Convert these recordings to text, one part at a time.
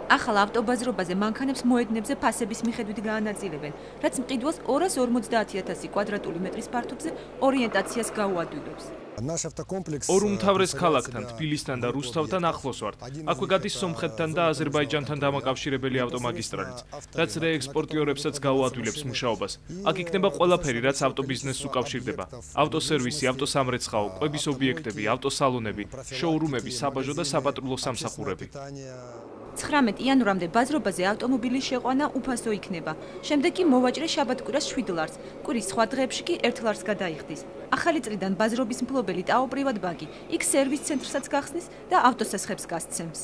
ახალ ავტობაზრობაზე მანქანებს მოედნებზე ფასების მიხედვით გაანაწილებენ, რაც მყიდველს 250.000 კვადრატული მეტრის ფართობზე ორიენტაციას გაუადვილებს. ორ უმთავრეს ქალაქთან, თბილისთან და რუსთავთან ახლოს ვართ. აქვე გადის სომხეთთან და აზერბაიჯანთან დამაკავშირებელი ავტომაგისტრალიც, რაც რეექსპორტიორებსაც გაუადვილებს მუშაობას. აქ იქნება ყველაფერი, რაც ავტობიზნესს უკავშირდება: ავტოსერვისი, ავტოსამრეცხაო, კვების ობიექტები, ავტოსალონები, შოურუმები, საბაჟო და საპატრულო სამსახურები. 19 იანვრამდე ბაზრობაზე ავტომობილის შეყვანა უფასო იქნება. შემდეგ კი მოვაჭრე შაბათ-კვირას 7 ლარს, კვირის სხვა დღეებში კი 1 ლარს გადაიხდის. ახალი წლიდან ბაზრობის მფლობელი ტაო პრივატ ბანკი იქ სერვის ცენტრსაც გახსნის და ავტოსესხებს გასცემს.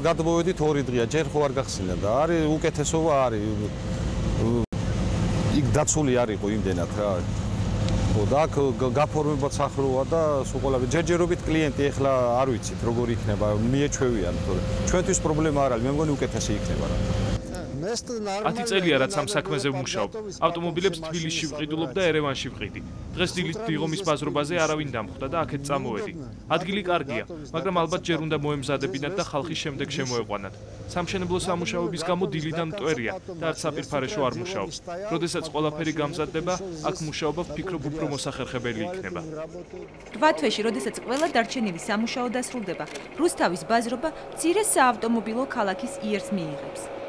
გადმოვედით 2 დღეა, ჯერ ხო არ გახსნა და არის უკეთესობა არის. იქ დაცული არ იყო იმდენად რა. და აქ გაფორმებაც ახლოა და სულ ყველაფერი ჯერჯერობით კლიენტი ეხლა არ ვიცით როგორ იქნება, მიეჩვევიან, თორე ჩვენთვის პრობლემა არ არის, მე მგონი უკეთესი იქნება რა. 10 წელია რაც ამ საქმეზე ვმუშაობ. ავტომობილებს თბილისში ვყიდულობ და ერევანში ვყიდი. დღეს დილით დიღომის ბაზრობაზე არავინ დამხვდა და აქეთ წამოვედი. ადგილი კარგია, მაგრამ ალბათ ჯერ უნდა მოემზადებინათ და ხალხი შემდეგ შემოეყვანათ. სამშენებლო სამუშაოების გამო დილიდან მტვერია და არც საპირფარეშო არ მუშაობ. როდესაც ყველაფერი გამზადდება, აქ მუშაობა ვფიქრობ უფრო მოსახერხებელი იქნება. 8 თვეში, როდესაც ყველა დარჩენილი სამუშაო დასრულდება, რუსთავის ბაზრობა მცირე საავტომობილო ქალაქის იერს მიიღებს.